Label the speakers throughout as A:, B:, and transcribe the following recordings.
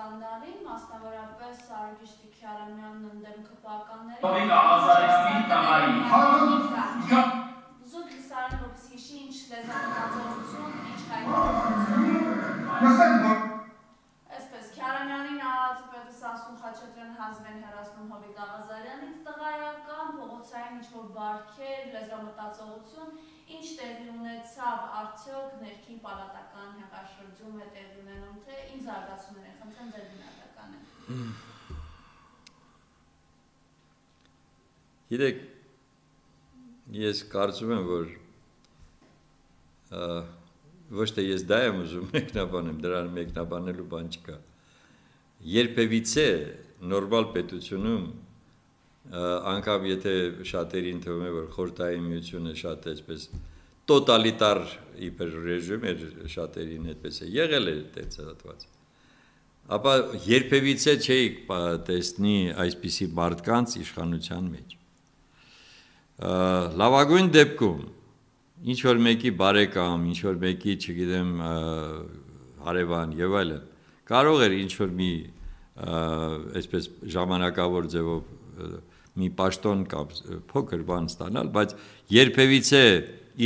A: սկանդալի, մասնավորապես Արուգիշտի Քյարամյանն ընդդեմ ԿՊԱ-ականների զուտ լիսարանը որպես հիշի ինչ լեզվամտածողություն, ինչ հայտնություն Այսպես, Քյարամյանին Ալատիպետը Սասուն Խաչատրյան հազվեն հեռացնում Հովիկ Աղազարյանից տղայական, փողոցային ինչ-որ բարքեր, լեզվամտածողություն, ինչ տեղի ունեցավ արդյոք ներքին պալատական հեղաշրջում է տեղի ունենում, թե ինչ զարգացումներ են, խնդրեմ ձեր գնահատականը։
B: Գիտեք, ես կարծում եմ, որ ոչ թե ես դա եմ ուզում մեկնաբանեմ, դրան մեկնաբանելու բան չկա։ Երբևիցե նորմալ պետությունում անգամ եթե շատերին թվում է, որ Խորհրդային Միությունը շատ այսպես տոտալիտար իբր ռեժիմ էր, շատերին այդպես է եղել է տեցածված։ Ապա երբևիցե չէի տեսնի այսպիսի մարդկանց իշխանության մեջ։ Լավագույն դեպքում ինչ որ մեկի բարեկամ, ինչ որ մեկի, չգիտեմ, հարևան եւ այլն, կարող էր ինչ որ մի այսպես ժամանակավոր ձևով մի պաշտոն կամ փոքր բան ստանալ, բայց երբևիցե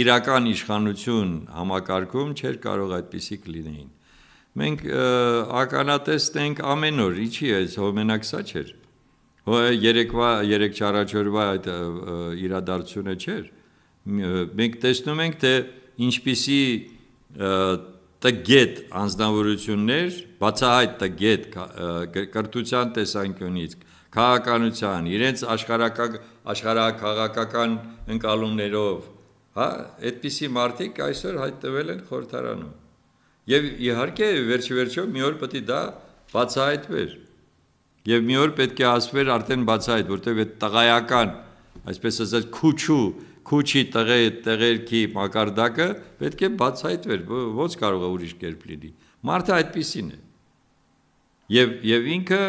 B: իրական իշխանություն համակարգում չէր կարող այդպիսիք լինեին։ Մենք ականատեսն ենք ամեն օր, ինչի է, մենակ սա չէր։ Երեք չառաջորվա այդ իրադարձությունը չէր։ Մենք տեսնում ենք, թե ինչպիսի տգետ անձնավորություններ, բացահայտ տգետ կրթության տեսանկյունից, քաղաքականության, իրենց աշխարհաքաղաքական ընկալումներով, այդպիսի մարդիկ այսօր հայտնվել են խորհրդարանում։ Եվ իհարկե վերջիվերջո մի օր պետք է դա բացահայտվեր։ Եվ մի օր պետք է ասվեր արդեն բացահայտ, որտեղ այդ տղայական, այսպես ասած, քուչի տղերքի մակարդակը պետք է բացահայտվեր, ոնց կարող է ուրիշ կերպ լինի։ Մարդը այդպիսին է։ Եվ ինքը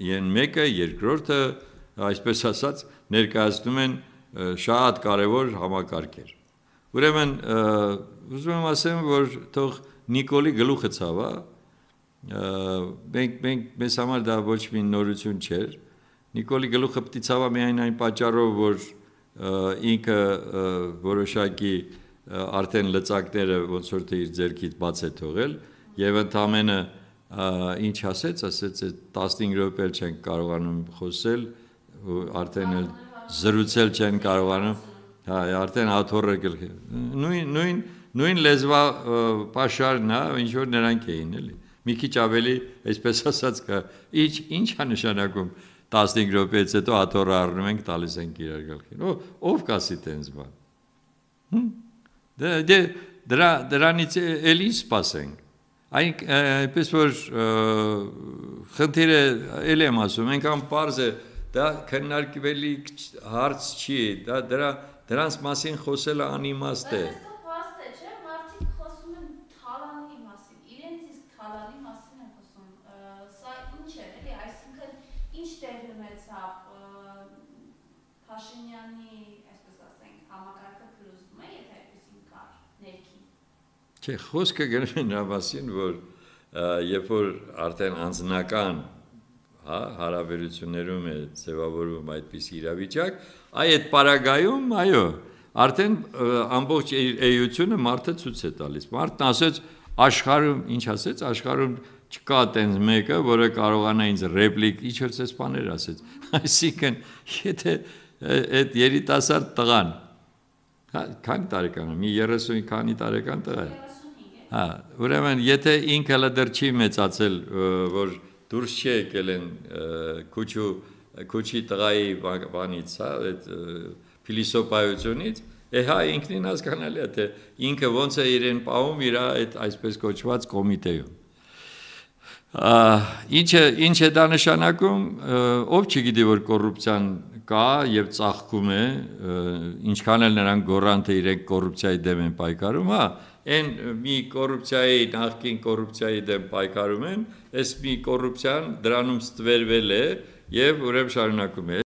B: մեկը, երկրորդը, այսպես ասած, ներկայացնում են շատ կարևոր համակարգեր։ Ուրեմն ուզում եմ ասեմ, որ թող Նիկոլի գլուխը ցավա, մեզ համար դա ոչ մի նորություն չէր։ Նիկոլի գլուխը պիտի ցավա միայն այն պատճառով, որ ինքը որոշակի արդեն լծակները ոնց որ թե իր ձեռքից բաց է թողել եւ ընդամենը ինչ ասեց 15 րոպե չեն կարողանում խոսել, արդեն զրուցել չեն կարողանում, արդեն աթոռը գլխի։ Նույն լեզվա պաշարն է, ինչ որ նրանք էին, էլի։ Մի քիչ ավելի, այսպես ասած, ինչ է նշանակում 15 րոպեից հետո աթոռը առնում ենք, տալիս ենք իրար գլխին։ Ով կասի տենց բան։ Դրանից էլ ինչ սպասենք։ Այնպես որ խնդիրը էլ եմ ասում, այնքան պարզ է, դա քննարկվելի հարց չի, դրանց մասին խոսելը անիմաստ է։ Չէ, խոսքը գնում է նրա մասին, որ երբ որ արդեն անձնական հարաբերություններում է ձևավորվում այդպիսի իրավիճակ, այդ պարագայում, այո, արդեն ամբողջ էությունը մարդը ցույց է տալիս։ Մարդն ասեց, աշխարհում, ինչ ասեց, աշխարհում չկա տենց մեկը, որը կարողանա ինձ ռեպլիկ, ինչ որ ցես բաներ ասեց։ Այսինքն, եթե այդ երիտասարդ տղան, քանի տարեկան է, մի 30 քանի տարեկան տղա է։ Ուրեմն, եթե ինքը դեռ չի մեծացել, որ դուրս չի եկել են քուչի տղայի բանից, այդ փիլիսոփայությունից, հա ինքնին հասկանալի է, թե ինքը ոնց է իրեն պահում իր այդ այսպես կոչված կոմիտեում։ Ինչ է դա նշանակում, ով չգիտի, որ կոռուպցիան կա եւ ծաղկում է, ինչքան էլ նրանք գոռան, թե իրենք կոռուպցիայի դեմ են պայքարում, հա, այն մի կոռուպցիայի, նախկին կոռուպցիայի դեմ պայքարում են, այս մի կոռուպցիան դրանում ստվերվել է եւ ուրեմն շարունակում է